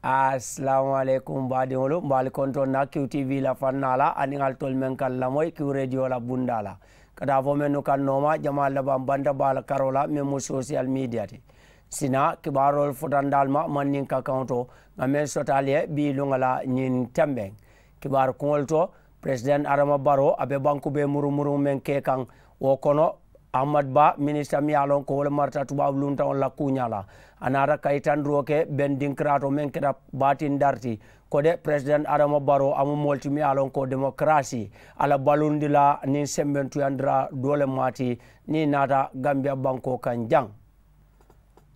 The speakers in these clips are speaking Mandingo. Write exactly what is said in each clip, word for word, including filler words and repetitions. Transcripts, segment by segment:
Asalaamu aleykum baadiŋolu, mbe ali kontoŋ na kiw tv la fannaa la aniŋ ali tolu meŋ ka lamoyi kiw reediyo la bundaa la, ka taa fo mennu kaŋ nooma jamaa labaŋ banta baa la karoo la meŋ mu sosiyal miidiya ti. Sina kibaaroolu futandaalu ma manniŋ ka kaŋo to, ŋa meŋ sotaali ye bii luŋa la ñiŋ tembeŋ kibaaru kuŋolu to. President adama baroo a be banku bee murumuruŋ meŋ ke kaŋ, wo kono ahmad ba minisita miŋ ye a loŋ ko wo le marata tubaabu luntaŋo la kuuñaa la, a naata ka yitandiroo ke beŋ dinkiraato meŋ keta baatindari ti. Ko de president adama baroo a mu moolu ti miŋ ye a loŋ ko demokarasi a la balundi la niŋ sembentuyandiraa doo le maati niŋ i naata gambiya bankoo kaŋ jaŋ.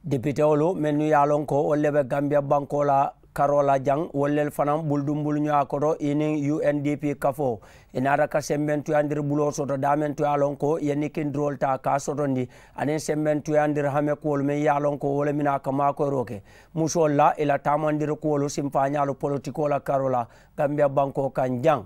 Depitewolu mennu ye a loŋ ko wolu le be gambiya bankoo la karoo la jaŋ, wolu lelu fanaŋ buludumbuluñoyaa koto i niŋ undp kafoo, i naata ka sembentuyandiri buloo soto daameŋ to ye a loŋ ko i ye nikindiroolu taa ka a sotondi aniŋ sembentuyandiri hamekuwolu meŋ ye a loŋ ko wo le mina a ka maakoyiroo ke musoolu la i la taamandiri kuwolu simfaañaalu politikoo la karoo la gambiya bankoo kaŋ jaŋ.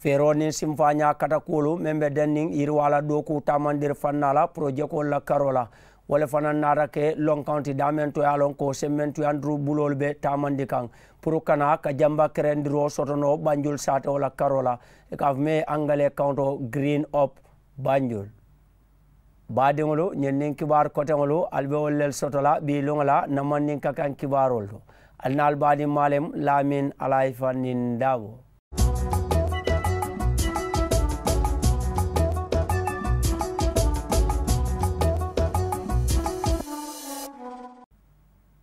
Feeroo niŋ simfaañaa katakuwolu meŋ be denniŋ yiriwaa la dookuu taamandiri fannaa la porojekoolu la karoo la, wo le fanaŋ naata ke lonkaŋo ti daameŋ to ye a loŋ ko sembentuyandiru buloolu be taamandi kaŋ puru kana ka jamba kerendiroo soto noo banjulu saatewo la karoo la, i ka a fo meŋ ye angalee kaŋo to green up banjulu. Baadiŋolu ñiŋ niŋ kibaaru koteŋolu ali be wolu lelu soto la bii luŋo la na mandinka kaŋ kibaaroolu to. Ali na ali baadiŋ maalem laamin alaayifa niŋ daabo.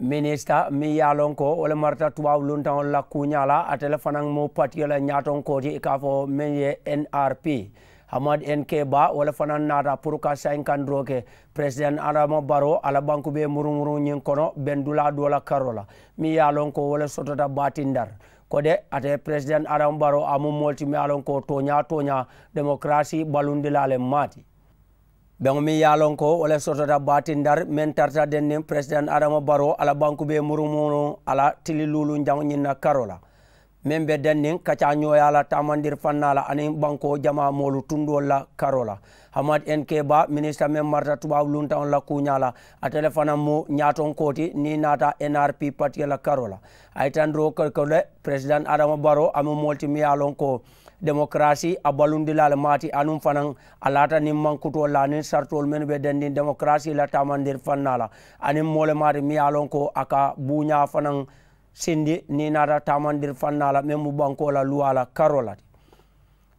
Minisita meŋ ye a loŋ ko wo le marata tubaabu luntaŋolu la kuuñaa la ate le fanaŋ mu patiyo la ñaatonkoo ti i ka a fo meŋ ye nrp, hamad n k ba wo le fanaŋ naata puru ka sayinkandiro ke president adama baroo a la banku be murumuruŋ ñiŋ kono bendulaa doo la karoo la meŋ ye a loŋ ko wo le sotota baatindar. Ko de ate president adama baroo a mu moolu ti meŋ ye a loŋ ko tooñaa tooñaa demokarasi balundilaa le maati. Beŋo meŋ ye a loŋ ko wo le sotota baatindari meŋ tarata denniŋ president adama baroo a la banku be murumuruŋ a la tili luuluŋ jaŋo ñiŋ na karoo la meŋ be denniŋ kacaa ñooyaa la taamandiri fannaa la aniŋ bankoo jamaa moolu tundoolu la karoo la. Hamad n k ba minisita meŋ marata tubaabu luntaŋo la kuuñaa la ate le fanaŋ mu ñaatonkoo ti niŋ i naata nrp patiyo la karoo la. A ye tandiroo ke ko le president adama baroo a mu moolu ti meŋ ye a loŋ ko demokarasi a balundilaa le maati anuŋ fanaŋ a laata niŋ mankutoolu la aniŋ saritoolu mennu be dendiŋ demokarasi la taamandiri fannaa la aniŋ moo le maati meŋ ye a loŋ ko a ka buuñaa fanaŋ sindi niŋ i naata taamandiri fannaa la meŋ mu bankoo la luwaa la karoo la ti.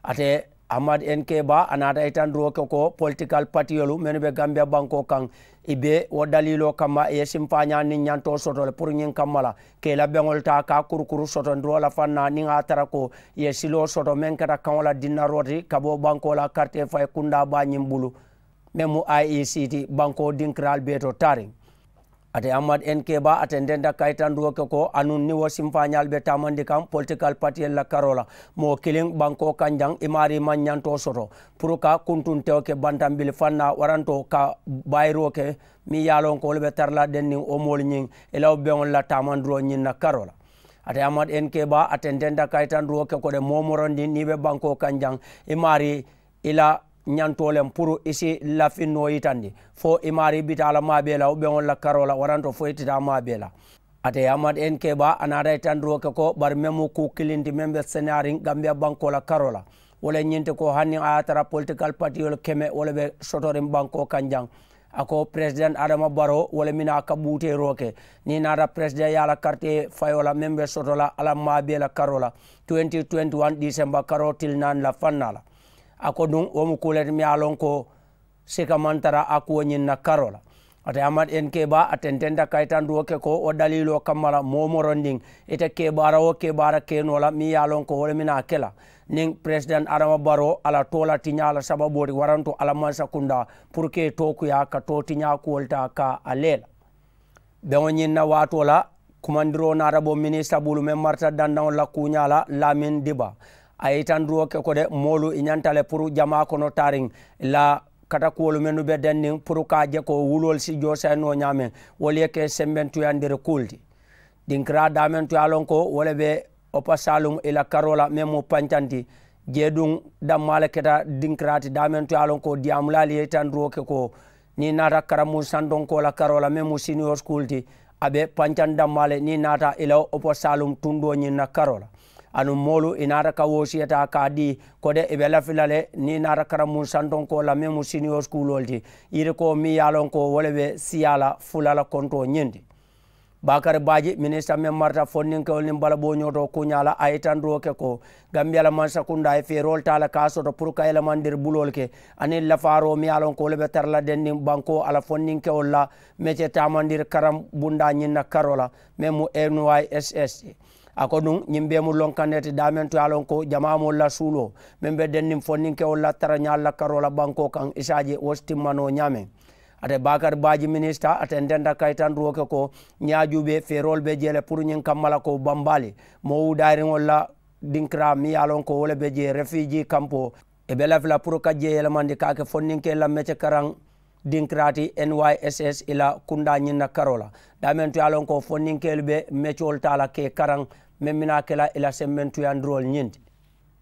Ate ahmad n k ba a naata i tandiroo ke ko politikal patiyolu mennu be gambiya bankoo kaŋ i be wo daliiloo kamma i ye simfaañaa niŋ ñantoo soto le puru ñiŋ kamma la ka i la beŋolu taa ka a kurukuru sotondiroo la fannaa niŋ a ye a tara ko i ye siloo soto meŋ keta kaŋo la dinnaroo ti ka bo bankoo la karitee fayi kundaa baa ñiŋ bulu meŋ mu i e c ti bankoo dinkiraalu bee to taariŋ. Ate ahmad n k ba a tententa kayitandiroo ke ko anuŋ niŋ wo simfaañaalu be taamandi kaŋ politikal patiyolu la karoo la moo kiliŋ bankoo kaŋ jaŋ i maarii maŋ ñantoo soto puru ka kuntuntewo ke bantanbili fannaa warantoo ka bayiroo ke meŋ ye a loŋ ko wolu be tara la denniŋ wo moolu ñiŋ i la wo beŋolu la taamandiroo ñiŋ na karoo la. Ate ahmad n k ba a tententa kayitandiroo ke ko de moo morondiŋ niŋ i be bankoo kaŋ jaŋ i maarii i la ñantoo le puru i si lafinnoo yitandi fo i maarii bita a la maa bee la wo beŋolu la karoo la waranto fo i tita a maa bee la. Ate ahmad n k ba a naata yitandiroo ke ko bari meŋ mu kuu kiliŋ ti meŋ be seneyaariŋ gambiya bankoo la karoo la wo le ñiŋ ti ko hani a ye a tara politikal patiyolu keme wo le be sotoriŋ bankoo kaŋ jaŋ. A ko president adama baroo wo le mina a ka buuteeroo ke niŋ i naata president ye a la karitee fayoo la meŋ be soto la a la maa bee la karoo la twenty twenty one disemba karoo tili naani la fannaa la. A ko duŋ wo mu kuu le ti meŋ ye a loŋ ko sika maŋ tara a kuwo ñiŋ na karoo la. Ate ahmad n k ba a tententa kayitandiroo ke ko wo daliiloo kamma la moo morondiŋ ite kebaara wo kebaara ke noo la meŋ ye a loŋ ko wo le mina a ke la niŋ president adama baroo a la too la tiñaa la sababoo ti waranto a la mansa kundaa puru ka i tookuyaa ka too tiñaa kuwolu taa ka a lee la. Beŋo ñiŋ na waatoo la kumandiroo naata bo minisita bulu meŋ marata dandaŋo la kuuñaa la laamin diba a ye yitandiroo ke ko de moolu i ñanta le puru jamaa kono taariŋ la katakuwolu mennu be denniŋ puru ka a je ko wuloolu si joosayi noo ñaameŋ wolu ye ke sembentuyandiri kuulu ti. Dinkiraa daameŋ to ye a loŋ ko wo le be opasaaluŋ i la karoo la meŋ mu pancanti jeeduŋ dammaa le keta dinkiraa ti daameŋ to ye a loŋ ko diyaamulaalu ye yitandiroo ke ko niŋ i naata karambuŋ santonkoo la karoo la meŋ mu siniyo sukuulu ti a be pancaŋ dammaa le niŋ i naata i la opo saalum tundoo ñiŋ na karoo la. Aduŋ moolu i naata ka woosiya taa ka a dii kode i be lafi la le niŋ i naata karambuŋ santonkoo la meŋ mu siniyoos kuuloolu ti yirikoo meŋ ye a loŋ ko wo le be siyaa la fula la kontoo ñiŋ ti. Baakari baaji minisita meŋ marata fondinkewolu niŋ balabooñoo to kuuñaa la a ye itandiroo ke ko gambiya la mansakundaa ye feeroolu taa le ka a soto puru ka yelemandiri buloolu ke aniŋ lafaaroo meŋ ye a loŋ ko wo le be tara la dendiŋ bankoo a la fondinkewolu la mece taamandiri karaŋ bundaa ñiŋ na karoo la meŋ mu n y s s ti. A ko duŋ ñiŋ bee mu loŋ kaŋ ne ti daameŋ to ye a loŋ ko jamaa moolu la suuloo meŋ be denniŋ fondinkewolu la tarañaalu la karoo la bankoo kaŋ i si a je wo si timma noo ñaameŋ. Ate baakari baaji minisita a tententa kayitandiroo ke ko ñiŋ ye a juubee feeroolu be jee le puru ñiŋ kamma la ko bambaali moo wuudaayiriŋolu la dinkiraa meŋ ye a loŋ ko wo le be jee refiijii kampoo i be lafi la puru ka jee yelemandi ka a ke fondinkeelu la mece karaŋ dinkiraa ti n y s s i la kundaa ñiŋ na karoo la. Daameŋ to ye a loŋ ko fondinkeelu be mecewolu taa la ka i karaŋ meŋ bi naa ke la i la sembentuyandiroolu ñiŋ ti.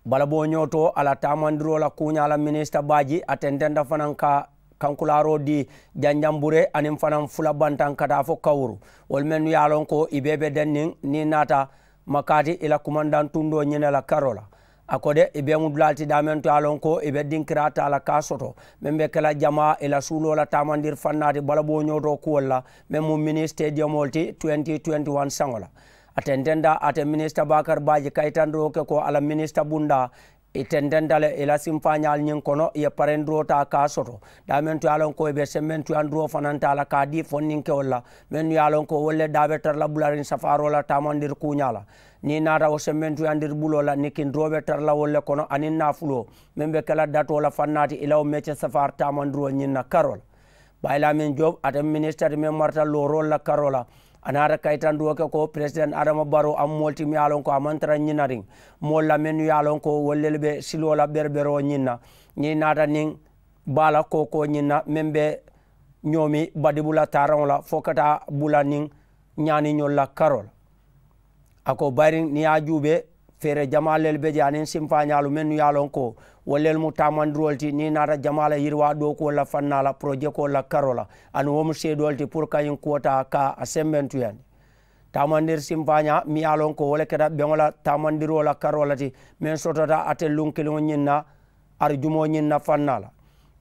Balabooñoo to a la taamandiroo la kuuñaa la minisita baaji a tententa fanaŋ ka kankulaaroo dii janjamburee aniŋ fanaŋ fula bantaŋ ka taa fo kawuru wolu mennu ye a loŋ ko i bee be denniŋ niŋ i naata makaati i la kumandaŋ tundoo ñiŋ ne la karoo la. A ko de i bee mu dulaa le ti daameŋ to ye a loŋ ko i be dinkiraa taa la ka a soto meŋ be ke la jamaa i la suuloo la taamandiri fannaa ti balabooñoo to kuwolu la meŋ mu minisitediyomoo le ti twenty twenty one saŋo la. A tententa ate minisita baakari baaji kayitandiroo ke ko a la minisita bundaa i tententa le i la simfaañaalu ñiŋ kono i ye parendiroo taa ka a soto daameŋ to ye a loŋ ko i be sembentuyandiroo fanaŋ taa la ka a dii fondinkewolu la mennu ye a loŋ ko wolu le daa be tara la bulariŋ safaaroo la taamandiri kuuñaa la. Niŋ i naata wo sembentuyandir buloo la nikindiroo be tara la wolu le kono aniŋ naafuloo meŋ be ke la datoo la fannaa ti i la wo mece safaari taamandiroo ñiŋ na karoo la. Bayi laamin job ate minisita ti meŋ marata looroolu la karoo la a naata kayitandiroo ke ko peresideŋ adama baroo a mu moolu ti meŋ ye a loŋ ko a maŋ tara ñinariŋ moolu la mennu ye a loŋ ko wolu lelu be siloo la bereberoo ñiŋ na. Niŋ i naata niŋ baa la kookoo ñiŋ na meŋ be ñoomi badibu la taaraŋo la fo ka taa bula niŋ ñaaniñolu la karoo la. A ko bayiriŋ niŋ i ye a juubee feere jamaa lelu be je aniŋ simfaañaalu mennu ye a loŋ ko wolu lelu mu taamandiroolu ti niŋ i naata jamaa la yiriwaa dookuwolu la fannaa la porojekoolu la karoo la aduŋ wo mu seedoolu ti puru ka ñiŋ kuwo taa ka a sembentuyandi. Taamandiri simfaañaa meŋ ye a loŋ ko wo le keta beŋo la taamandiroo la karoo la ti meŋ sotota ate luŋ kiliŋo ñiŋ na arijumoo ñiŋ na fannaa la.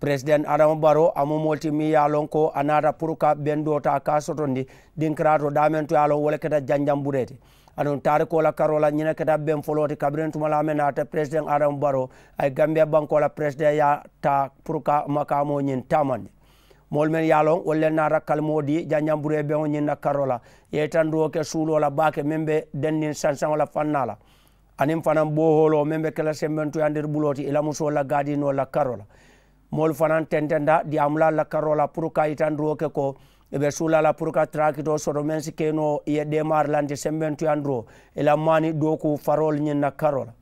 Peresideŋ adama baroo a mu moo le ti meŋ ye a loŋ ko a naata puru ka bendoo taa ka a sotondi dinkiraa to daameŋ to ye a loŋ wo le keta janjamburee ti. Aduŋ taarikoo la karoo la ñiŋ ne keta beŋ foloo ti kabiriŋ tumalaa meŋ naata peresideŋ adama baroo a ye gambiya bankoo la peresideŋyaa taa puru ka makaamoo ñiŋ taamandi. Moolu mennu ye a loŋ wolu le naata kalimoo dii janjamburee beŋo ñiŋ na karoo la i ye itandiroo ke suuloo la baake meŋ be denniŋ sansaŋo la fannaa la. Aniŋ fanaŋ boohooloo meŋ be ke la sembentuyandiri buloo ti i la musoolu la gaadiinoolu la karoo la. Moolu fanaŋ tententa diyaamulaalu la karoo la puru ka yitandiroo ke ko i be suulaa la puru ka taraakitoo soto meŋ si ke noo i ye deemaari lanti sembentuyanduroo i la maani dookuu faroolu ñiŋ na karoo la.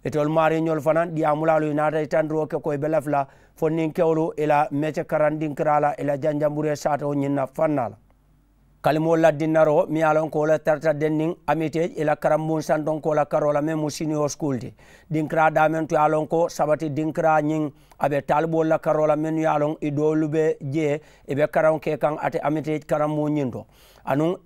Itolu maariiñolu fanaŋ diyaamulaalu i naata yitandiroo ke ko i be lafi la fondinkewolu i la mece karandinkiraa la i la janjamburee saatoo ñiŋ na fannaa la. Kalimoolu la dinnaroo meŋ ye a loŋ ko wo le tarata denniŋ amiteej i la karambuŋ santonkoo la karoo la meŋ mu siniyo sukuulu ti. Dinkiraa daameŋ to ye a loŋ ko sabati dinkiraa ñiŋ a be taaliboolu la karoo la mennu ye a loŋ i doolu be jee i be karaŋo ke kaŋ ate amiteej karambuŋ ñiŋ to. Anuŋ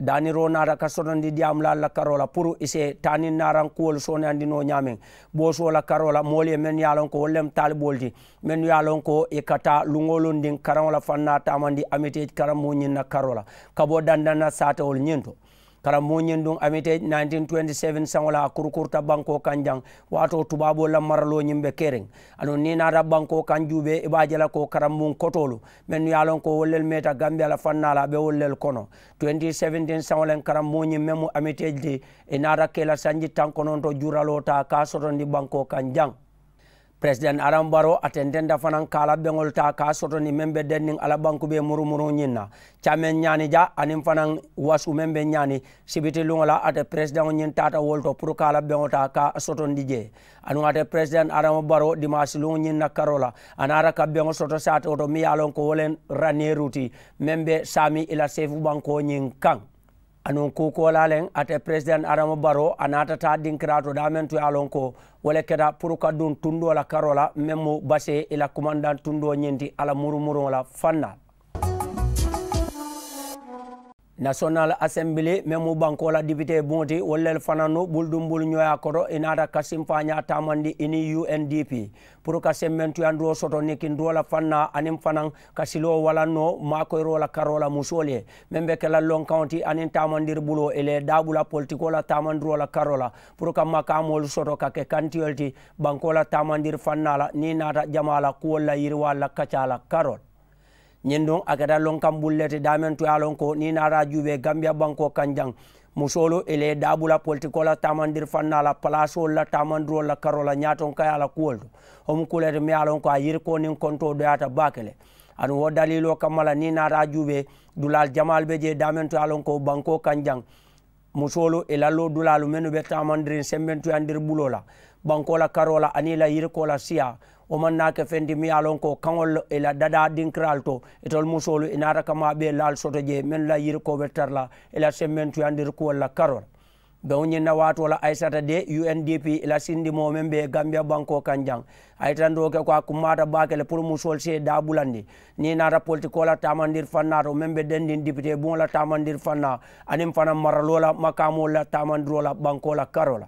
daaniroo naata ka sotondi diyaamulaalu la karoo la puru i si taa niŋ naaraŋ kuwolu sooneyandi noo ñaameŋ. Boosoo la karoo la moolu ye mennu ye a loŋ ko wolu lemu taaliboolu ti mennu ye a loŋ ko i ka taa luŋ-wo-luŋ diŋ karaŋo la fannaa taamandi amiteej karambuŋ ñiŋ na karoo la ka bo dandaŋ na saatewolu ñiŋ to. Karambuŋ ñiŋ duŋ amiteej nineteen twenty seven saŋo la a kurukuruta bankoo kaŋ jaŋ waatoo tubaaboolu la maraloo ñiŋ be keriŋ. Aduŋ niŋ i naata bankoo kaŋ juubee i be a je la ko karambuŋ kotoolu mennu ye a loŋ ko wolu lelu meeta gambiya la fannaa la a be wolu lelu kono. Twenty seventeen saŋo le karambuŋ ñiŋ meŋ mu amiteej ti i naata ke la sanji taŋ kononto juuraloo taa ka a sotondi bankoo kaŋ jaŋ. Peresideŋ adama baroo a tententa fanaŋ ka a la beŋolu taa ka a sotondi meŋ be denniŋ a la banku bee murumuruŋ ñiŋ na. Caameŋ ñaani ja aniŋ fanaŋ wasu meŋ be ñaani sibiti luŋo la ate peresideŋo ñiŋ taata wolu to puru ka a la beŋo taa ka a sotondi jee. Aduŋ ate peresideŋ adama baroo dimaasi luŋo ñiŋ na karoo la a naata ka beŋo soto saatoo to meŋ ye a loŋ ko wo le raneeru ti meŋ be saami i la seefu bankoo ñiŋ kaŋ. Anuŋ kuukoolaa leŋ ate peresideŋ adama baroo a naata taa dinkiraa to daameŋ to ye a loŋ ko wo le keta puru ka duŋ tundoo la karoo la meŋ mu basee i la kumandaŋ tundoo ñiŋ ti a la murumuruŋo la fannaa la. Nasiyonal asenbili meŋ mu bankoo la dipitee buŋo ti wolu le fanaa nu bulu duŋ bulu ñooyaa koto i naata ka simfaañaa taamandi i niŋ u n d p puru ka sembentuyandiroo soto nikindiroo la fannaa aniŋ fanaŋ ka siloo walaŋ noo maakoyiroo la karoo la musoolu ye meŋ be ke la lonkaŋo ti aniŋ taamandiri buloo i la ye daabula politikoo la taamandiroo la karoo la puru ka makaamoolu soto ka ke kantiyolu ti bankoo la taamandiri fannaa la niŋ i naata jamaa la kuwolu la yiriwaalu la kacaa la karoo la. Ñiŋ duŋ a keta lonkaŋ bulu le ti daameŋ to ye a loŋ ko niŋ i naata a juubee gambiya bankoo kaŋ jaŋ musoolu i la ye daabula politikoo la taamandiri fannaa la palaasoolu la taamandiroolu la karoo la ñaatonkayaa la kuwolu to wo mu kuu le ti meŋ ye a loŋ ko a yirikoo niŋ kontoo doyaata baake le aduŋ wo daliiloo kamma la niŋ i naata a juubee dulaalu jamaalu be jee daameŋ to ye a loŋ ko bankoo kaŋ jaŋ musoolu i la loodulaalu mennu be taamandiriŋ sembentuyandiri buloo la bankoo la karoo la aniŋ i la yirikoo la siyaa wo maŋ naa ke feŋ ti miŋ ye a loŋ ko kaŋolu i la dadaa dinkiraalu to itolu musoolu i naata ka maa bee laalu soto jee mennu la yirikoo be tara la i la sembentuyandiri kuwolu la karoo la beŋo ñiŋ na waatoo la ayisata de u n d p i la sindimoo meŋ be gambiya bankoo kaŋ jaŋ a ye tandoo ke ko a kummaata baake le puru musoolu si ye daa bulandi niŋ i naata politikoo la taamandiri fannaa to meŋ be dendiŋ dipitee buŋo la taamandiri fannaa aniŋ fanaŋ maraloo la makaamoo la taamandiroo la bankoo la karoo la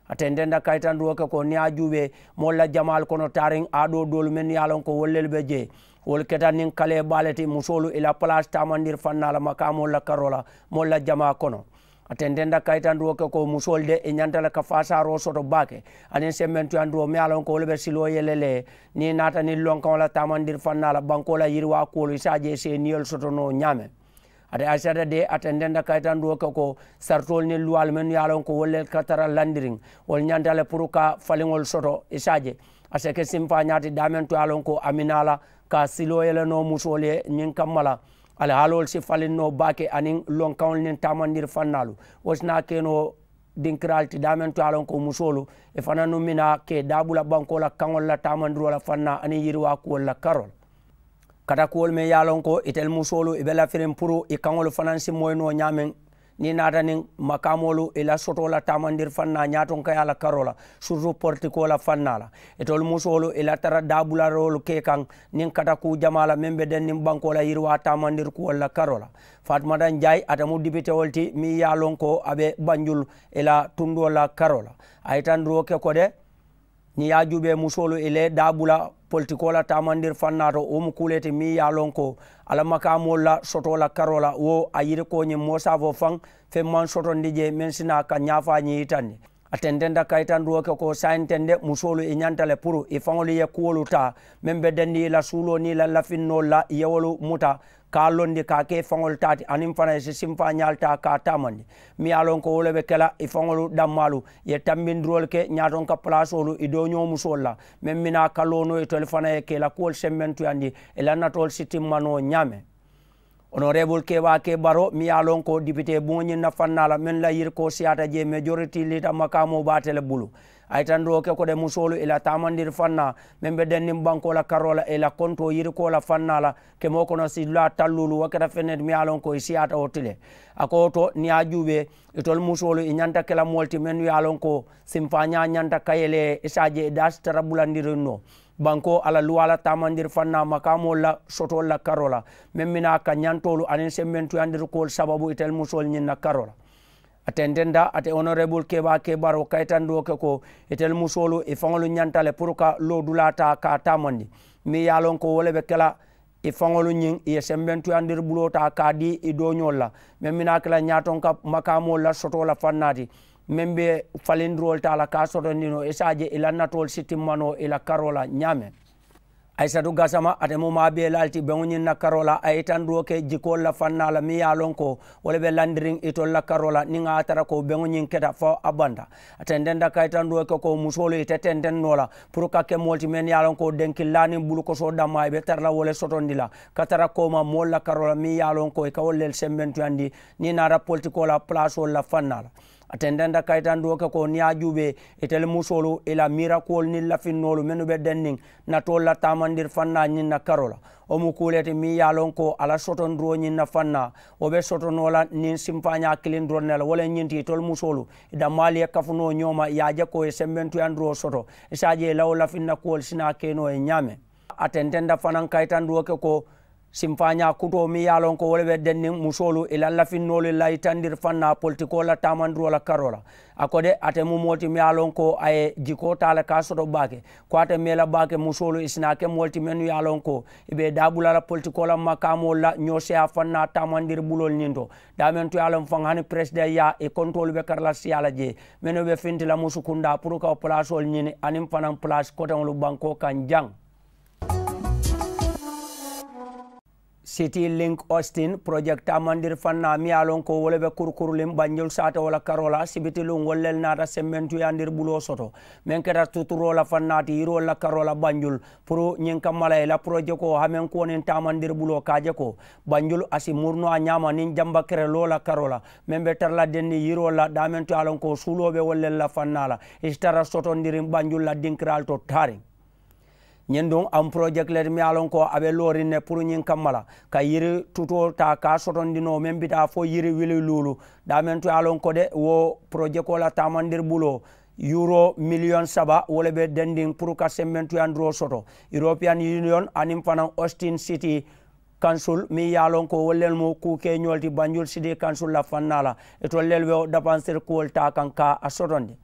a tententa kayitandiroo ke ko niŋ ye a juubee moolu la jamaalu kono taariŋ aadoo doolu mennu ye a loŋ ko wolu lelu be jee wolu keta niŋ kalee baa le ti musoolu i la palaasi taamandiri fannaa la makaamoolu la karoo la moolu la jamaa kono a tententa kayitandiroo ke ko musoolu de i ñanta le ka faasaaroo soto baake aniŋ sembentuyandiroo meŋ ye a loŋ ko wolu be siloo yele le niŋ i naata niŋ lonkaŋo la taamandiri fannaa la bankoo la yiriwaa kuwolu i si a je i si i niyolu soto noo ñaameŋ ate ayisata de a tententa kayitandiroo ke ko saritoolu niŋ luwaalu mennu ye a loŋ ko wolu le ka tara landiriŋ wolu ñanta le puru ka faliŋolu soto i si a je a si ke simfaañaa ti daameŋ to ye a loŋ ko a minaa la ka siloo yele noo musoolu ye ñiŋ kamma la alihaaloolu si faliŋ noo baake aniŋ lonkaŋolu niŋ taamandiri fannaalu wo si naa ke noo dinkiraalu ti daameŋ to ye a loŋ ko musoolu i fananu minaa ke daabula bankoo la kaŋolu la taamandiroo la fannaa aniŋ yiriwaa kuwolu la karoo la katakuwolu meŋ ye a loŋ ko itelu musoolu i be lafiriŋ puru i kaŋolu fanaŋ si moyi noo ñaameŋ niŋ i naata niŋ makaamoolu i la sotoo la taamandiri fannaa ñaatonkayaa la karoo la surutu politikoo la fannaa la itolu musoolu i la tara daabularoolu ke kaŋ niŋ katakuu jamaa la meŋ be denniŋ bankoo la yiriwaa taamandiri kuwolu la karoo la faatumata njaayi ate mu dipitewolu ti meŋ ye a loŋ ko a be banjulu i la tundoo la karoo la a ye tandiroo ke ko de niŋ i ye a juubee musoolu i le daabula politikoo la taamandiri fannaa to wo mu kuu le ti meŋ ye a loŋ ko alla makaamoolu la sotoo la karoo la wo a yirikoo ñiŋ moo saafoo faŋ feŋ maŋ sotondi jee meŋ si naa ka ñaafaa ñiŋ yitandi a tententa kayitandiroo ke ko saayiŋ teŋ de musoolu i ñanta le puru i faŋolu ye kuwolu taa meŋ be dendi i la suuloo niŋ i la lafinnoolu la i ye wolu muta ka a londi ka a ke i faŋolu taa ti aniŋ fanaŋ i si simfaañaalu taa ka a taamandi meŋ ye a loŋ ko wo le be ke la i faŋolu dammaalu i ye tambindiroolu ke ñaatonka palaasoolu i dooñoo musoolu la meŋ minaa ka loonoo itolu fanaŋ ye ke i la kuwolu sembentuyandi i la natoolu si timma noo ñaameŋ onoreebulu keebaa ke baroo meŋ ye a loŋ ko dipitee buŋo ñiŋ na fannaa la mennu la yirikoo siyaata jee mejoriti liita makaamoo be ate le bulu a ye tandiroo ke ko de musoolu i la taamandiri fannaa meŋ be denniŋ bankoo la karoo la i la kontoo yirikoo la fannaa la kemoo kono si dulaa talluulu wo keta feŋ ne ti meŋ ye a loŋ ko i siyaata wo ti le a ko wo to niŋ ye a juubee itolu musoolu i ñanta ke la moolu ti mennu ye a loŋ ko simfaañaa ñanta ka yele i si a je i daa si tara bulandiriŋ noo bankoo a la luwaa la taamandiri fannaa makaamoolu la sotoolu la karoo la meŋ minaa ka ñantoolu aniŋ sembentuyandirikoolu sababu itelu musoolu ñiŋ na karoo la a tententa ate onoreebulu keebaa keebaroo kayitandiroo ke ko itelu musoolu i faŋolu ñanta le puru ka loodulaa taa ka a taamandi meŋ ye a loŋ ko wo le be ke la i faŋolu ñiŋ i ye sembentuyandiri buloo taa ka a dii i dooñoolu la meŋ minaa ke la ñaatonka makaamoolu la sotoo la fannaa ti meŋ be falindiroolu taa la ka a sotondi noo i si a je i la natoolu si timma noo i la karoo la ñaameŋ ayisatu gasama ate mu maa bee laalu ti beŋo ñiŋ na karoo la a ye itandiroo ke jikoolu la fannaa la meŋ ye a loŋ ko wo le be landiriŋ itolu la karoo la niŋ a ye a tara ko beŋo ñiŋ keta fo a banta a tententa kayitandiroo ke ko musoolu ite tenteŋ noo la puru ka ke moolu ti mennu ye a loŋ ko denkillaa niŋ bulukosoo dammaa i be tara la wo le sotondi la ka tara kooma moolu la karoo la meŋ ye a loŋ ko i ka wolu lelu sembentuyandi niŋ i naata politikoo la palaasoolu la fannaa la a tententa kayitandiroo ke ko niŋ ye a juubee itelu musoolu i la miirakuwolu niŋ lafinnoolu mennu be denniŋ natoolu la taamandiri fannaa ñiŋ na karoo la wo mu kuu le ti meŋ ye a loŋ ko a la sotondiroo ñiŋ na fannaa wo be soto noo la niŋ simfaañaa kiliŋ doroŋ ne la wo le ñiŋ ti itolu musoolu i dammaalu ye kafu noo ñoo ma i ye a je ko i ye sembentuyandiroo soto i si a je i la wo lafinna kuwolu si naa ke noo ye ñaameŋ a tententa fanaŋ kayitandiroo ke ko Sinfaañaa kutoo meŋ ye a loŋ ko wo le be denniŋ musoolu i la lafinnoolu la yitandiri faŋ na politikoo la taamandiroo la karoo la. A ko de ate mu moo ti meŋ ye a loŋ ko a ye jikoo taa le ka a soto baake. Ko ate meŋ la baake musoolu i si naa ke moolu ti mennu ye a loŋ ko i be i daabula la politikoo la makaamoolu la ñooseyaa faŋ na taamandiri buloolu ñiŋ to. Daameŋ to ye a loŋ faŋ hani peresidaŋ yaa i kontoolu be kara la siyaa la jee mennu be finti la musukundaa puru ka wo palaasoolu ñini aniŋ fanaŋ palaasi koteŋolu bankoo kaŋ jaŋ. City link austin project taamandiri faŋ na meŋ ye a loŋ ko wo le be kurukuruliŋ banjul saatewo la karoo la sibitiluŋ wolu le naata sembentuyaandiri buloo soto meŋ keta tuturoo la faŋ naati yiriwolu la karoo la banjul. Puru ñiŋ kamma la i la porojekoo hamenkuwo niŋ taamandiri buloo ka a je ko banjul a si murunoo a ñaama niŋ jamba kereloo la karoo la meŋ be tara la denniŋ yiriwolu la daameŋ to ye a loŋ ko suuloo be wolu le la faŋ naa la i si tara sotondiriŋ banjul la dinkiraalu to taariŋ. Ñiŋ duŋ a mu porojeki le ti meŋ ye a loŋ ko a be looriŋ ne puru ñiŋ kamma la ka yiri tutoo taa ka a sotondi noo meŋ bitaa fo yiri wili luulu. Daameŋ to ye a loŋ ko de wo porojekoo la taamandiri buloo yuroo miliyoŋ saba wo le be dendiŋ puru ka sembentuyandiroo soto. European union aniŋ fanaŋ austin city kansul meŋ ye a loŋ ko wolu le mu kuu keeñoolu ti banjul city kansul la faŋ naa la. Itolu le be wo dapansiri kuwolu taa kaŋ ka a sotondi.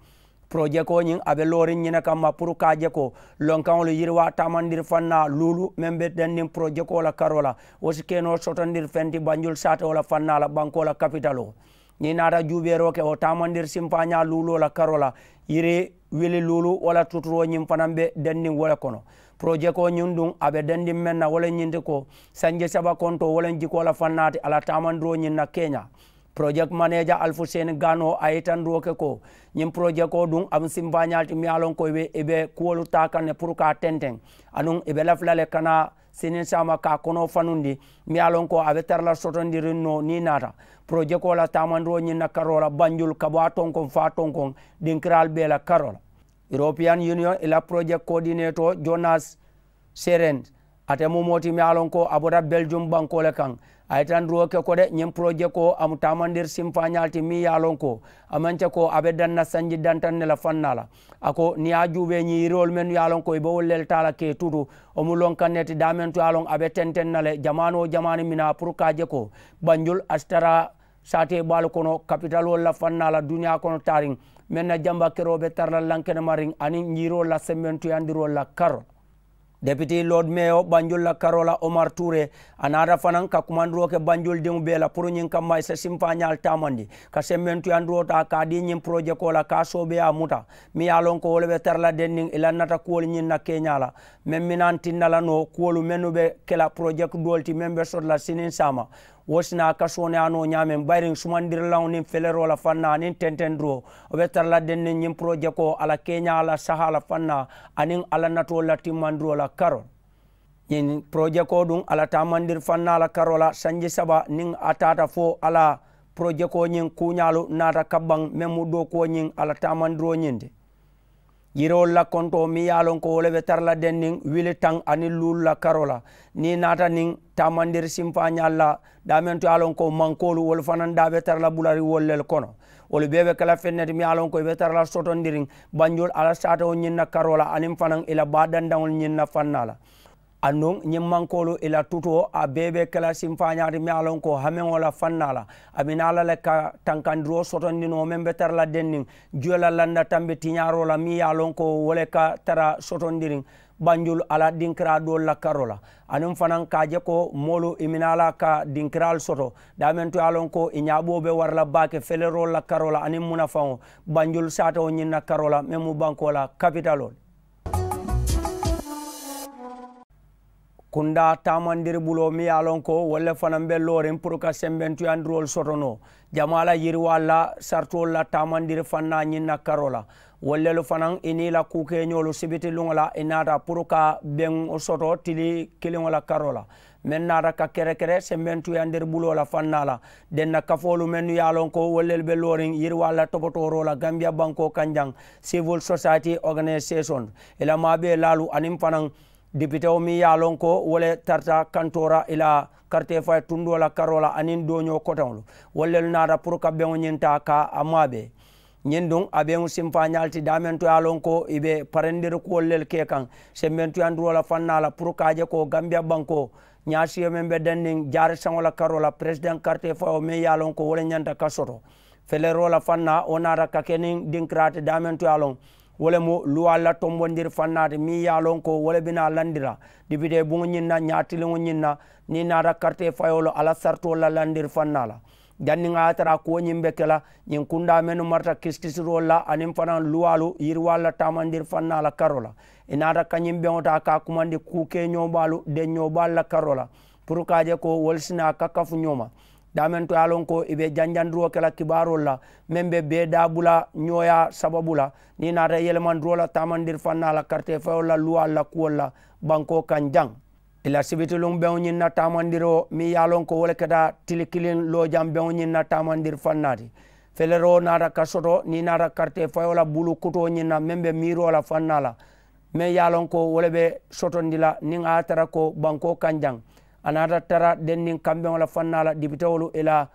Porojekoo ñiŋ a be looriŋ ñiŋ ne kamma puru ka a je ko lonkaŋolu yiriwaa taamandiri faŋ naa luulu meŋ be denniŋ porojekoo la karoo la. Wo si ke noo sotondiri feŋ ti banjul saatewo la faŋ naa la bankoo la kapitaloo. Niŋ i naata juubeeroo ke wo taamandiri simpaañaa luuloo la karoo la yiri wili luulu wo la tuturoo ñiŋ fanaŋ be denniŋ wo le kono. Porojekoo ñiŋ duŋ a be dendiŋ meŋ na wo le ñiŋ ti ko sanji saba kontoo wo le jikoo la faŋ naa ti a la taamandiroo ñiŋ na keeñaa. Project manager alfuseni gano a ye itandiroo ke ko ñiŋ project o duŋ a mu sinfaañaa le ti meŋ ye a loŋ ko i be kuwolu taa kaŋ ne puru ka a tenteŋ aduŋ i be lafi la le kana siniŋ saama ka a konoo fanundi meŋ ye a loŋ ko a be tara la sotondiriŋ noo niŋ i naata project o la taamandiroo ñiŋ na karoo la banjulu ka bo a tonkoŋ fo a tonkoŋ dinkiraalu bee la karoo la. European union i la project coordinator jonas seren ate mu moo ti meŋ ye a loŋ ko a bota belgium bankoo le kaŋ. A ye tandiroo ke ko de ñiŋ porojekoo a mu taamandiri sinfaañaa le ti meŋ ye a loŋ ko a maŋ ke ko a be daŋ na sanji dantaŋ ne la faŋ naa la. A ko niŋ i ye a juubee ñiŋ yiriwolu mennu ye a loŋ ko i be wolu le taa la ka i tutu wo mu loŋ kaŋ ne ti daameŋ to ye a loŋ a be tenteŋ na le jamaanoo jamaani minaa puru ka a je ko banjulu a si tara saatee baalu kono kapitaloolu la faŋ naa la duniyaa kono taariŋ meŋ na jamba keroo be tara la lankenemariŋ aniŋ ñiiroolu la sembentuyandiroolu la karoo. Deputy lord meyo banjul la karoo la omar tuure a naata fanaŋ ka kumandiroo ke banjul diŋo bee la puru ñiŋ kamma i si sinfaañaalu taamandi ka sembentuyandiroo taa ka a dii ñiŋ porojekoo la ka a soobeeyaa muta meŋ ye a loŋ ko wo le be tara la denniŋ i la nata kuwolu ñiŋ na keeñaa la meŋ minaŋ tinna la noo kuwolu mennu be ke la porojeki doolu ti meŋ be soto la siniŋ saama. Wo si naa ka sooneyaa noo ñaameŋ bayiriŋ sumandirilaŋo niŋ feleroo la faŋ naa aniŋ tentendiroo wo be tara la denniŋ ñiŋ porojekoo a la keeñaa la sahaa la faŋ naa aniŋ a la natoolu la timmandiroo la karoo. Ñiŋ porojekoo duŋ a la taamandiri faŋ naa la karoo la sanji saba niŋ a taata fo a la porojekoo ñiŋ kuuñaalu naata ka baŋ meŋ mu dookuwo ñiŋ a la taamandiroo ñiŋ ti. Yiriwolu la kontoo meŋ ye a loŋ ko wo le be tara la denniŋ wili taŋ aniŋ luulu la karoo la niŋ i naata niŋ taamandiri sinfaañaalu la daameŋ to ye a loŋ ko mankoolu wolu fanaŋ daa be tara la bulariwolu le kono. Wolu bee be ke la feŋ ne ti meŋ ye a loŋ ko i be tara la sotondiriŋ banjulu a la saatewo ñiŋ na karoo la aniŋ fanaŋ i la baa dandaŋolu ñiŋ na faŋ naa la. Aduŋ ñiŋ mankoolu i la tutoo a bee be ke la sinfaañaa ti meŋ ye a loŋ ko hameŋo la faŋ naa la a bi naa la le ka tankandiroo sotondi noo meŋ be tara la denniŋ juyo la landa tambi tiñaaroo la meŋ ye a loŋ ko wo le ka tara sotondiriŋ banjulu a la dinkiraa doolu la karoo la. Aniŋ fanaŋ ka a je ko moolu i minaa la ka dinkiraalu soto daameŋ to ye a loŋ ko i ñaaboo be wara la baake feleroolu la karoo la aniŋ munafaŋo banjulu saatewo ñiŋ na karoo la meŋ mu bankoo la kapitaloolu. Kundaa taamandiri buloo meŋ ye a loŋ ko wolu le fanaŋ be looriŋ puru ka sembentuyandiroolu soto noo jamaa la yiriwaalu la saritoolu la taamandiri faŋ naa ñiŋ na karoo la. Wolu lelu fanaŋ i niŋ i la kuukeeñoolu sibiti luŋo la i naata puru ka beŋo soto tili kiliŋo la karoo la meŋ naata ka kerekere sembentuyandiri buloo la faŋ naa la. Denna kafoolu mennu ye a loŋ ko wolu lelu be looriŋ yiriwaalu la topotooroo la gambiya bankoo kaŋ jaŋ sivil sosayiti oganisation i la maabee laalu aniŋ fanaŋ dipitewo meŋ ye a loŋ ko wo le tarata kantoora i la kariteefayi tundoo la karoo la aniŋ dooñoo koteŋolu. Wolu lelu naata puru ka beŋo ñiŋ taa ka a maabee. Ñiŋ duŋ a be mu simfaañaalu ti daameŋ to ye a loŋ ko ì be parendiri kuwolu lelu ke kaŋ sembentuyandiroo la faŋ naa la puru ka a je ko gambiya bankoo ñaasiyo meŋ be denniŋ jaari saŋo la karoo la peresideŋ karitee fayoo meŋ ye a loŋ ko wo le ñanta ka soto feleroo la faŋ naa wo naata ka ke niŋ dinkiraa ti daameŋ to ye a loŋ wo le mu luwaalu la tombondiri faŋ naa ti meŋ ye a loŋ ko wo le bi naa landi la dibitee buŋo ñiŋ na ñaatiliŋo ñiŋ na niŋ ì naata karitee fayoo la a la saritoolu la landiri faŋ naa la janniŋ a ye a tara a kuwo ñiŋ be ke la ñiŋ kundaa mennu marata kisikisiroolu la aniŋ fanaa luwaalu yiriwaalu la taamandiri faŋ naa la karoo la ì naata kañiŋ beŋo taa ka a kumandi kuu keeñoo baalu deŋ ñoo baalu la karoo la puru ka a je ko wolu si naa ka kafu ñoo ma daameŋ to ye a loŋ ko ì be janjandiroo ke la kibaaroolu la meŋ be bee daabula ñooyaa sababu la niŋ ì naata yelemandiroo la taamandiri faŋ naa la karitee fayoolu la luwaalu la kuwolu la bankoo kaŋ jaŋ ì la sibitiluŋ beŋo ñiŋ na taamandiroo meŋ ye a loŋ ko wo le keta tili kiliŋ loojaŋ beŋo ñiŋ na taamandiri faŋ naa ti feleroo naata ka soto niŋ ì naata karitee fayoo la bulu kutoo ñiŋ na meŋ be miiroo la faŋ naa la meŋ ye a loŋ ko wo le be sotondi la niŋ a ye a tara ko bankoo kaŋ jaŋ a naata tara denniŋ kambeŋo la faŋ naa la dibitewolu ì la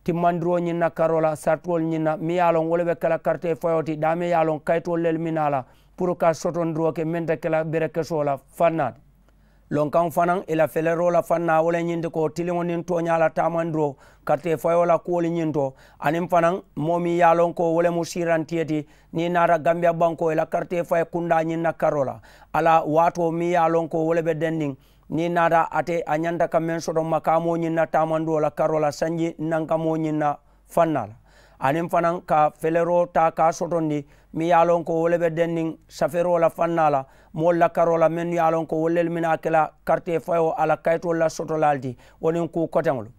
timmandiroo ñiŋ na karoo la saritoolu ñiŋ na meŋ ye a loŋ wo le be ke la karitee fayoo ti daameŋ ye a loŋ kayitoolu lelu mi naa la puru ka sotondiroo ke meŋ te ke la berekesoo la faŋ naa ti lonkaŋo fanaa ì la feleroo la faŋ naa wo le ñiŋ ti ko tiliŋo niŋ tooñaa la taamandiroo karitee fayoo la kuwolu ñiŋ to aniŋ fanaa moo meŋ ye a loŋ ko wo le mu siirantiyo ti niŋ ì naata gambiya bankoo ì la karitee fayi kundaa ñiŋ na karoo la a la waatoo meŋ ye a loŋ ko wo le be denniŋ niŋ ì naata ate a ñanta ka meŋ soto makaamoo ñiŋ na taamandiroo la karoo la sanji nankamoo ñiŋ na faŋ naa la aniŋ fanaa ka feleroo taa ka a sotondi meŋ ye a loŋ ko wo le be denniŋ safeeroo la faŋ naa la moolu la karoo la mennu ye a loŋ ko wolu lelu mennu a ke la karitee fayoo a la kayitoolu la sotolaalu ti wo niŋ kuu koteŋolu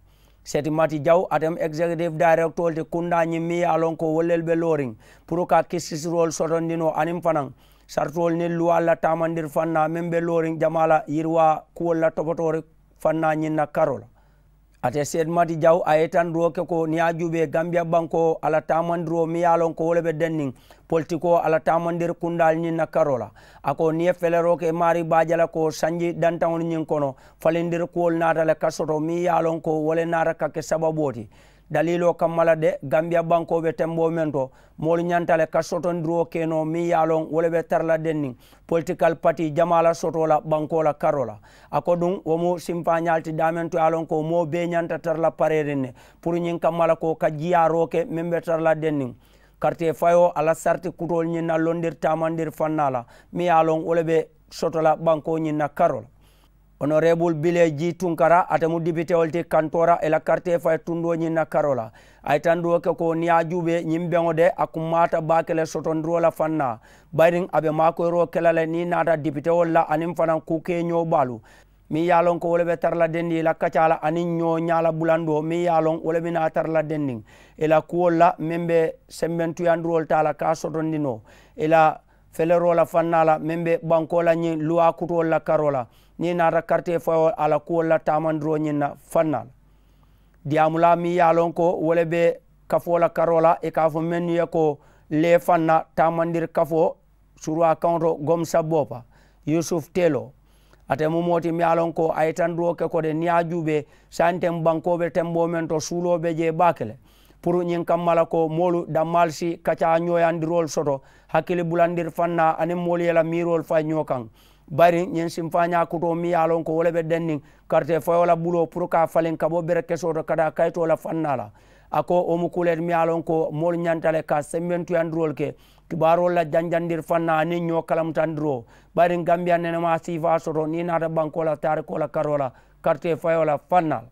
seeti mati jaw ate mu egizekitifu dayirekitoolu ti kundaa ñiŋ meŋ ye a loŋ ko wolu lelu be looriŋ puru ka kisisiroolu sotondi noo aniŋ fanaa saritoolu niŋ luwaalu la taamandiri faŋ naa meŋ be looriŋ jamaa la yiriwaa kuwolu la topotoori faŋ naa ñiŋ na karoo la ate seeti mati jaw a ye itandiroo ke ko niŋ ye a juubee gambiya bankoo a la taamandiroo meŋ ye a loŋ ko wo le be denniŋ politikoo a la taamandiri kundaalu ñiŋ na karoo la a ko niŋ ye feleroo ke maarii be a je la ko sanji dantaŋolu ñiŋ kono falindiri kuwolu naata le ka soto meŋ ye a loŋ ko wo le naata ka ke sababoo ti daliiloo kamma la de gambiya bankoo be temboo meŋ to moolu ñanta le ka sotondiroo ke noo meŋ ye a loŋ wo le be tara la denniŋ politikal pati jamaa la sotoo la bankoo la karoo la a ko duŋ wo mu simfaañaalu ti daameŋ to ye a loŋ ko moo bee ñanta tara la pareeriŋ ne puru ñiŋ kamma la ko ka jiyaaroo ke meŋ be tara la denniŋ karitee fayoo a la sariti kutoolu ñiŋ na londiri taamandiri faŋ naa la meŋ ye a loŋ wo le be soto la bankoo ñiŋ na karoo la onoreebulu bilee jii tunkara ate mu dipitewolu ti kantoora ì la karitee fayi tundoo ñiŋ na karoo la a ye tandiroo ke ko niŋ ye a juubee ñiŋ beŋo de a kummaata baake le sotondiroo la faŋ naa bayiriŋ a be maakoyiroo ke la le niŋ ì naata dipitewolu la aniŋ fanaa kuu keeñoo baalu meŋ ye a loŋ ko wo le be tara la dendi ì la kacaa la aniŋ ñoo ñaa la bulandoo meŋ ye a loŋ wo le bi naa tara la dendiŋ ì la kuwolu la meŋ be sembentuyandiroolu taa la ka a sotondi noo ì la feleroo la faŋ naa la meŋ be bankoo la ñiŋ luwaa kutoolu la karoo la niŋ ì naata karitee fayoo a la kuwolu la taamandiroo ñiŋ na faŋ naa la diyaamulaa meŋ ye a loŋ ko wo le be kafoo la karoo la ì ka a fo mennu ye ko lee faŋ na taamandiri kafoo suruwaa kaŋo to gomsa boopa yusufu teeloo ate mu moo ti meŋ ye a loŋ ko a ye itandiroo ke ko de niŋ ye a juubee saayiŋ teŋ bankoo be temboo meŋ to suuloo be jee baake le puru ñiŋ kamma la ko moolu dammaalu si kacaa ñooyandiroolu soto hakkili bulandiri faŋ naa aniŋ moolu ye la miiroolu fayi ñoo kaŋ bayiriŋ ñiŋ simfaañaa kutoo meŋ ye a loŋ ko wo le be denniŋ karitee fayoo la buloo puru ka a faliŋ ka bo berekesoo to ka taa kayitoo la faŋ naa la a ko wo mu kuu le ti meŋ ye a loŋ ko moolu ñanta le ka sembentuyandiroolu ke kibaaroolu la janjandiri faŋ naa aniŋ ñoo kalamutandiroo bayiriŋ gambiya nenemaa siifaa soto niŋ i naata bankoo la taarikoo la karoo la karitee fayoo la faŋ naa la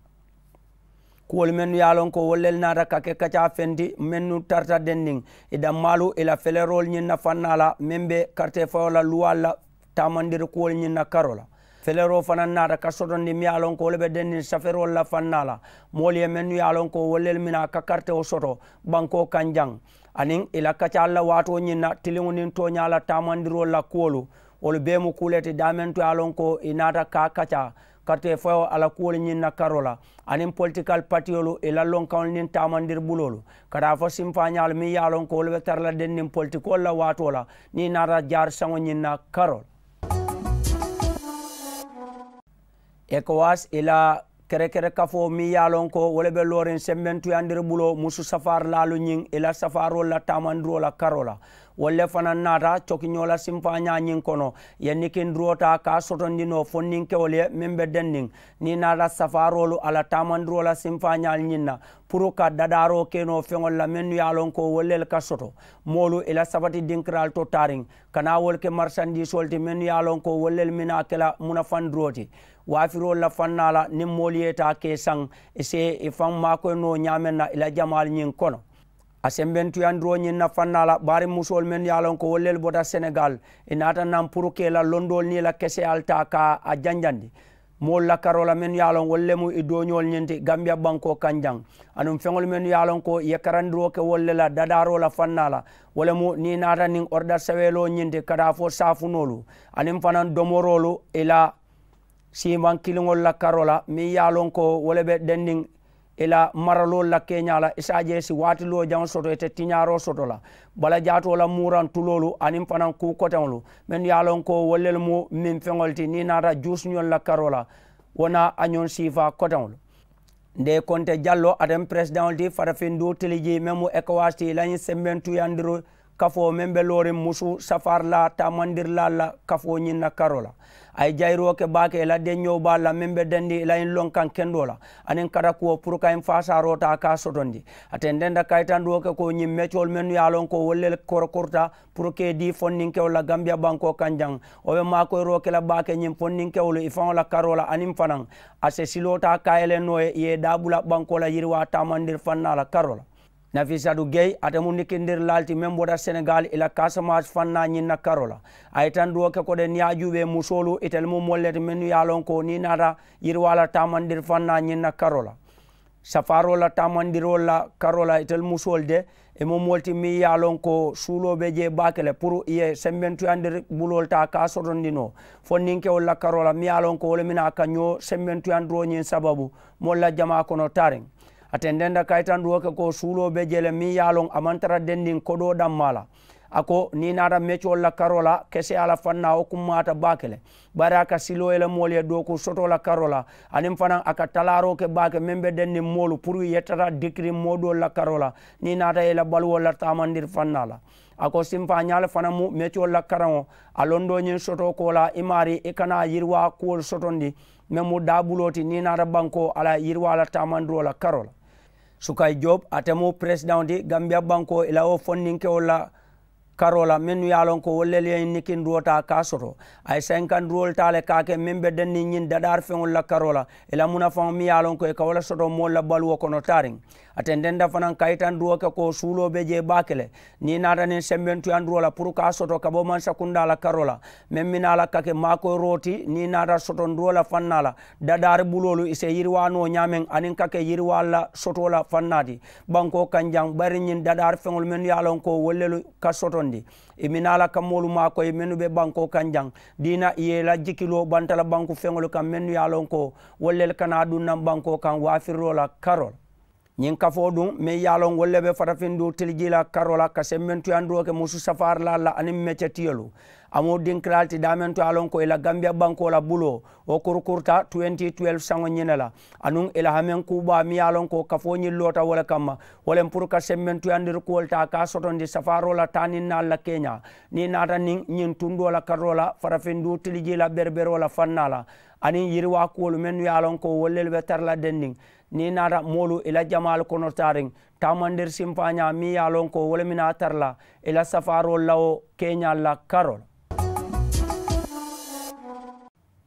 kuwolu mennu ye a loŋ ko wolu lelu naata ka ke kacaa feŋ ti mennu tarata denniŋ i dammaalu i la feleroolu ñiŋ na faŋ naa la meŋ be karitee fayoo la luwaalu la taamandiri kuwolu ñiŋ na karoo la feleroo fanaŋ naata ka sotondi meŋ ye a loŋ ko wo le be denniŋ saferoolu la faŋ naa la moolu ye mennu ye a loŋ ko wolu lelu mina ka karitewo soto bankoo kaŋ jaŋ aniŋ i la kacaalu la waatoo ñiŋ na tiliŋo niŋ tooñaa la taamandiroolu la kuwolu wolu bee mu kuu le ti daameŋ to ye a loŋ ko i naata ka a kacaa karitee fayoo a la kuwolu ñiŋ na karoo la aniŋ politikal patiyolu i la lonkaŋolu niŋ taamandiri buloolu ka taa fo simfaañaalu meŋ ye a loŋ ko wolu be tara la denniŋ politikoolu la waatoo la niŋ i naata jaari saŋo ñiŋ na karoo la ekowas i la Kerekere kafoo meŋ ye a loŋ ko wo le be looriŋ sembentuyandiri buloo musu safaarilaalu ñiŋ i la safaaroolu la taamandiroo la karoo la. Wolu le fanaŋ naata cokiñoo la simpaañaa ñiŋ kono, i ye nikindiroo taa ka a sotondi noo fonninkewolu ye meŋ be denniŋ niŋ i naata safaaroolu a la taamandiroo la simpaañaalu ñiŋ na, puru ka dadaaroo ke noo feŋolu la mennu ye a loŋ ko wolu lelu ka soto moolu i la sabati dinkiraalu to taariŋ, ka naa wolu ke marisandiisoolu ti mennu ye a loŋ ko wolu lelu mennu a ke la munafandiroo ti waafiroolu la fannaa la niŋ moolu ye i taa ka i saŋ, i si i faŋ maakoyi noo ñaameŋ na i la jamaalu ñiŋ kono. A sembentuyandiroo ñiŋ na fannaa la baari musoolu mennu ye a loŋ ko wolu lelu bota senegaali, i naata naŋ puru ka i la londoolu niŋ i la keseyaalu taa ka a janjandi moolu la karoo la mennu ye a loŋ wolu le mu i dooñoolu ñiŋ ti gambiya bankoo kaŋ jaŋ, aduŋ feŋolu mennu ye a loŋ ko i ye karandiroo ke wolu le la dadaaroo la fannaa la. Wo le mu niŋ i naata niŋ orida saweloo ñiŋ ti ka taa fo saafunoolu aniŋ fanaŋ domoroolu i la siimaŋ kiliŋolu la karoo la meŋ ye a loŋ ko wo le be denniŋ i la maraloolu la keeñaa la i si a je i si waati loo jaŋo soto ite tiñaaroo soto la balajaatoo la muuraŋ tuloolu aniŋ fanaŋ kuu koteŋolu mennu ye a loŋ ko wolu lelu mu meŋ feŋolu ti niŋ i naata juusiñolu la karoo la. Wo naa a ñoŋ siifaa koteŋolu nde konte jalloo ate mu peresidaŋolu ti farafindu tilijii meŋ mu ekowasi ti i la ñiŋ sembentuyandiru kafoo meŋ be looriŋ musu safaari la taamandirilaalu la kafoo ñiŋ na karoo la. A ye jayiroo ke baake i la deñoo baalu la meŋ be dendi i la ñiŋ lonkaŋ kendoo la aniŋ katakuwo puru ka ñiŋ faasaaroo taa ka a sotondi. A tententa kayitandiwoo ke ko ñiŋ mecoolu mennu ye a loŋ ko wolu le korokorita puru ka i dii fondinkewolu la gambiya bankoo kaŋ jaŋ. Wo be maakoyiroo ke la baake ñiŋ fondinkewolu i faŋo la karoo la aniŋ fanaŋ a se siloo taa kaayele noo ye i ye i daabula bankoo la yiriwaa taamandiri fannaa la karoo la. Nafisatu gey ate mu nikindirilaalu ti meŋ bota senegaali i la kaasamaasi fannaa ñiŋ na karoo la. A ye tanduwo ke ko de niŋ ye a juubee musoolu itelu mu moolu le ti mennu ye a loŋ ko niŋ i naata yiriwaa la taamandiri fannaa ñiŋ na karoo la. Safaaroo la taamandiroolu la karoo la itelu musoolu de i mu moolu ti meŋ ye a loŋ ko suuloo be jee baake le puru i ye sembentuyandiri buloolu taa ka a sotondi noo fondinkewolu la karoo la meŋ ye a loŋ ko wo le mina a ka ñoo sembentuyandiroo ñiŋ sababu moolu la jamaa kono taariŋ. A tententa kayitandiwoo ke ko suuloo be jee le meŋ ye a loŋ a maŋ tara dendiŋ kodoo dammaa la. A ko niŋ i naata mecoolu la karoo la keseyaa la fannaa wo kummaata baake le bari a ka siloo ye le moolu ye dooku sotoo la karoo la aniŋ fanaŋ a ka talaaroo ke baake meŋ be denniŋ moolu puru i ye tara dikiriŋ moo doolu la karoo la niŋ i naata ye i la baluwolu la taamandiri fannaa la. A ko simpaañaalu fanaŋ mu mecoolu la karaŋo a londoo ñiŋ sotoo koolaa i maarii i kana yiriwaa kuwolu sotondi meŋ mu daabuloo ti niŋ i naata bankoo a la yiriwaa la taamandiroo la karoo la. Sukayi job ate mu peresidaŋo ti gambiya bankoo i la wo fondinkewolu la karoo la mennu ye a loŋ ko wolu lelu ye ñiŋ nikindiroo taa ka a soto a ye senkandiroolu taa le ka a ke meŋ be denniŋ ñiŋ dadaari feŋolu la karoo la i la munafaŋo meŋ ye a loŋ ko i ka wo le soto moolu la baluwo kono taariŋ. A tententa fanaŋ kayitandiroo ke ko suuloo be jee baake le niŋ i naata niŋ sembentuyandiroo la puru ka a soto ka bo mansakundaa la karoo la meŋ minaa la ka ke maakoyiroo ti niŋ i naata sotondiroo la fannaa la dadaari buloolu i si yiriwaa noo ñaameŋ aniŋ ka ke yiriwaalu la sotoo la fannaa ti bankoo kaŋ jaŋ bari ñiŋ dadaari feŋolu mennu ye a loŋ ko wolu lelu ka sotondi i minaa la ka moolu maakoyi mennu be bankoo kaŋ jaŋ diina i ye i la jikiloo banta la banku feŋolu kaŋ mennu ye a loŋ ko wolu lelu ka naa duŋ naŋ bankoo kaŋ waafiriloo la karoo la. Ñiŋ kafoo duŋ meŋ ye a loŋ wolu le be farafindu tilijii la karoo la ka sembentuyandiroo ke musu safaarilaalu la aniŋ mecetiyolu. A mu dinkiraalu ti daameŋ to ye a loŋ ko i la gambiya bankoo la buloo wo kurukuruta twenty twelve saŋo ñiŋ ne la anuŋ i la hameŋ kuu baa meŋ ye a loŋ ko kafoo ñiŋ loota wo le kamma wo le puru ka sembentuyandirikuwolu taa ka a sotondi safaaroo la taa niŋ naalu la keeñaa niŋ i naata niŋ ñiŋ tundoo la karoo la farafindu tilijii la bereberoo la fannaa la aniŋ yiriwaa kuwolu mennu ye a loŋ ko wolu lelu be tara la denniŋ niŋ i naata moolu i la jamaalu kono taariŋ taamandiri simpaañaa meŋ ye a loŋ ko wo le mina a tara la i la safaaroolu la wo keeñaalu la karoo la.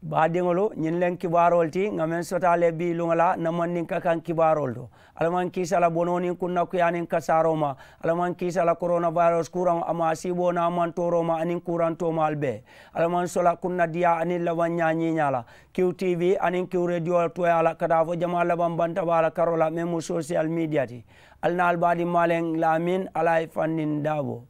Baadiŋolu ñiŋ leŋ kibaaroolu ti ŋa meŋ sotaa le bii luŋo la na mandinka kaŋ kibaaroolu to. Alla maŋ kiisa la bonoo niŋ kunnakuyaa niŋ kasaaroo ma. Alla maŋ kiisa la korona virus kuraŋo a ma a siiboo naa maŋ tooroo ma aniŋ kuuraŋ toomaalu bee. Alla maŋ sola kunnadiyaa aniŋ labaŋ ñaa ñiiñaa la. Kiw tv aniŋ kiw rediyo tooyaa la ka taa fo jamaa labaŋ bantabaa la karoo la meŋ mu sosiyal midiya ti. Ali naa ali baadiŋ maaleŋ laamin ali a ye fanniŋ daaboo.